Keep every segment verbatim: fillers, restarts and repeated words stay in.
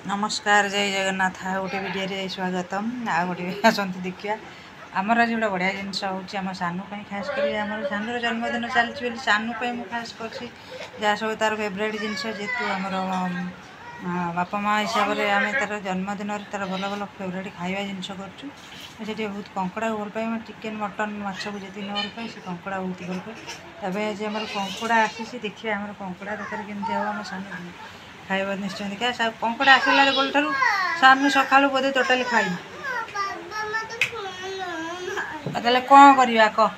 ନମସ୍କାର, ଜୟ ଜଗନ୍ନାଥ। ଆଉ ଗୋଟେ ଭିଡ଼ିଓରେ ସ୍ୱାଗତମ। ଆଉ ଗୋଟେ ଆସନ୍ତୁ ଦେଖିବା। ଆମର ଆଜି ଗୋଟେ ବଢ଼ିଆ ଜିନିଷ ହେଉଛି ଆମ ସାନୁ ପାଇଁ। ଖାସ୍ କରି ଆମର ସାନୁର ଜନ୍ମଦିନ ଚାଲିଛି ବୋଲି ସାନୁ ପାଇଁ ମୁଁ ଖାସ୍ କରିଛି ଯାହା ସବୁ ତା'ର ଫେଭରାଇଟ୍ ଜିନିଷ। ଯେହେତୁ ଆମର ବାପା ମା' ହିସାବରେ ଆମେ ତା'ର ଜନ୍ମଦିନରେ ତା'ର ଭଲ ଭଲ ଫେଭରାଇଟ୍ ଖାଇବା ଜିନିଷ କରୁଛୁ। ସେଠି ବହୁତ କଙ୍କଡ଼ାକୁ ଭଲ ପାଏ। ଚିକେନ୍, ମଟନ୍, ମାଛକୁ ଯେତିକି ନ ଭଲ ପାଏ, ସେ କଙ୍କଡ଼ା ବହୁତ ଭଲ ପାଏ। ତା ପାଇଁ ଆଜି ଆମର କଙ୍କଡ଼ା ଆସିଛି। ଦେଖିବା ଆମର କଙ୍କଡ଼ା ତରକାରୀ କେମିତି ହେବ, ଆମ ସାନୁ ଖାଇବା ନିଶ୍ଚୟ ଦେଖିବା। କଙ୍କଡ଼ା ଆସିଲା ଠାରୁ ସାନୁ ସକାଳୁ ବୋଧେ ଟୋଟାଲି ଖାଇନି। ତାହେଲେ କ'ଣ କରିବା କହ?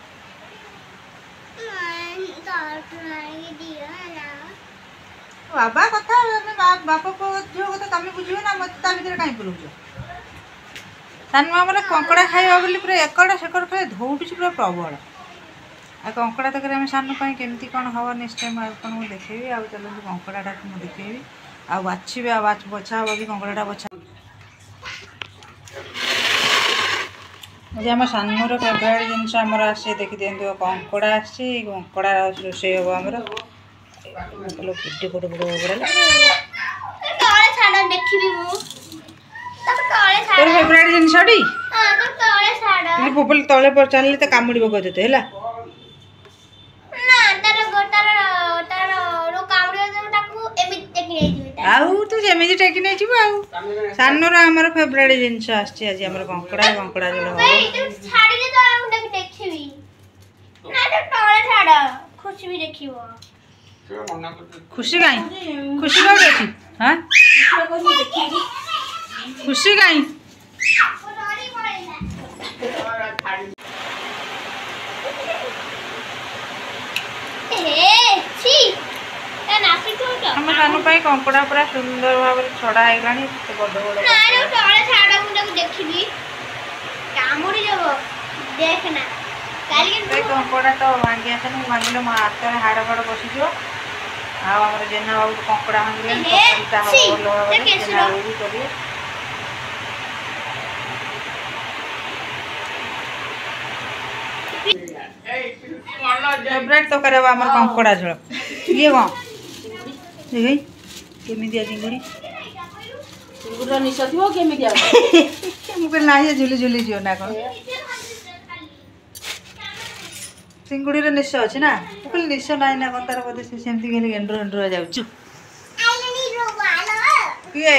ବାବା କଥା, ବାପ ଝିଅ କଥା ତମେ ବୁଝିବ ନା, ମୋତେ ତା ଭିତରେ କାହିଁ ପୁରଉଛ? ସାନୁ ଆମର କଙ୍କଡ଼ା ଖାଇବା ବୋଲି ପୁରା ଏକଡ଼ ସେକଡ଼ ଖାଇ ଧଉଡ଼ୁଛି ପୁରା ପ୍ରବଳ। ଆଉ କଙ୍କଡ଼ା ତରକାରୀ ଆମେ ସାନୁ ପାଇଁ କେମିତି କ'ଣ ହେବ, ନିଶ୍ଚୟ ମୁଁ ଆପଣଙ୍କୁ ଦେଖେଇବି। ଆଉ ଚାଲନ୍ତୁ, କଙ୍କଡ଼ାଟାକୁ ମୁଁ ଦେଖେଇବି ଆଉ ବାଛିବି, ଆଉ ବଛା ହେବ ବି କଙ୍କଡ଼ାଟା ବଛା। ଆଜି ଆମ ସାନୁର ଫେଭରାଇଟ୍ ଜିନିଷ ଆମର ଆସିଛି, ଦେଖିଦିଅନ୍ତୁ। କଙ୍କଡ଼ା ଆସିଛି, କଙ୍କଡ଼ା ରୋଷେଇ ହେବ ଆମର। କେତେ ବଡ଼ ବଡ଼ କଙ୍କଡ଼ା! ତୋର ଫେଭରାଇଟ୍ ଜିନିଷଟି ପୋପଲ ତଳେ ଚାଲିଲେ ତ କାମୁଡ଼ିବ ତତେ ହେଲା। ଆଉ ତୁ ଯେମିତି ଟେକି ନେଇଯିବୁ। ଆଉ ସାନୁର ଆମର ଫେଭରାଇଟ୍ ଜିନିଷ ଆସିଛି ଆଜି ଆମର କଙ୍କଡ଼ା, କଙ୍କଡ଼ା ଝୋଳ ହବ। ଖୁସି କାଇଁ? ଖୁସି କୋଉଠି ଅଛି? ହଁ, ଖୁସି କାଇଁ? ଆମ ସାନୁ ପାଇଁ କଙ୍କଡ଼ା ପୁରା ସୁନ୍ଦର ଭାବରେ ଛଡ଼ା ହେଇଗଲାଣି। ଏତେ ବଡ଼ ବଡ଼। ଦେଖିବି କାମୁଡ଼ି ଦେବ, ଦେଖ ନା। କଙ୍କଡ଼ା ତ ଭାଙ୍ଗି ଆସେନି, ମୁଁ ଭାଙ୍ଗିଲେ ମୋ ହାତରେ ହାଡ଼ ଫାଡ଼ ବସିଯିବ। ଆଉ ଆମର ଜେନା ବାବୁ କଙ୍କଡ଼ା ଭାଙ୍ଗିଲେଣି, ତରକାରୀଟା ହବ ଭଲ ଭାବରେ। ଜେନା ବାବୁ ବି କରିବେ। ଫେଭରାଇଟ୍ ତରକାରୀ ହବ ଆମର କଙ୍କଡ଼ା ଝୋଳ। ଇଏ କ'ଣ ଦେଖେଇ, କେମିତିଆ ଚିଙ୍ଗୁଡ଼ି? ଚିଙ୍ଗୁଡ଼ିର ନିଶ ଥିବ, କେମିତିଆ? ମୁଁ କହିଲି ନାହିଁ, ଝୁଲି ଝୁଲି ଯିବ ନା କ'ଣ? ଚିଙ୍ଗୁଡ଼ିର ନିଶ ଅଛି ନା? ମୁଁ କହିଲି ନିଶ ନାହିଁ ନା କ'ଣ ତାର ବୋଧେ। ସେ ସେମିତି ଖାଲି ଗେଣ୍ଡୁଆ ଗେଣ୍ଡୁଆ ଯାଉଛୁ। କିଏ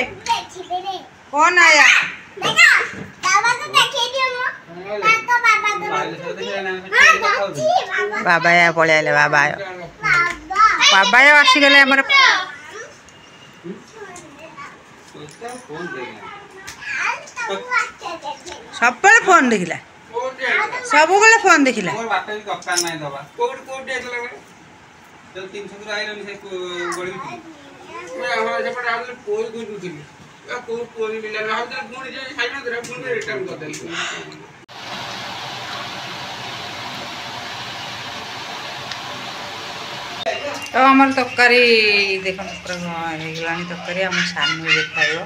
କ'ଣ ଆୟା? ବାବା ପଳେଇ ଆଇଲେ। ବାବା ବାବା ଆସିଗଲେ ଆମର। ସବୁବେଳେ ଫୋନ୍ ଦେଖିଲା, ସବୁବେଳେ ଫୋନ୍ ଦେଖିଲା। ଦରକାର ନାହିଁ ଦବା। କୋଉଠି କୋଉଠି ଯାଇଥିଲା? ତିନିଶହ ଆଇଲନି, ସେ ସେପଟେ ଭାବୁଥିଲି କୋଉ ଖୋଜୁଥିଲି, କୋଉ କୋଉ ମିଳିଲାନି। ଭାବୁଥିଲି ପୁଣି ଯେ ଖାଇନଥିଲା, ପୁଣି ରିଟର୍ନ କରିଦେଲି। ତ ଆମର ତରକାରୀ ଦେଖନ୍ତୁ, ପୁରା ହେଇଗଲାଣି ତରକାରୀ। ଆମ ସାନୁ ଏବେ ଖାଇବ।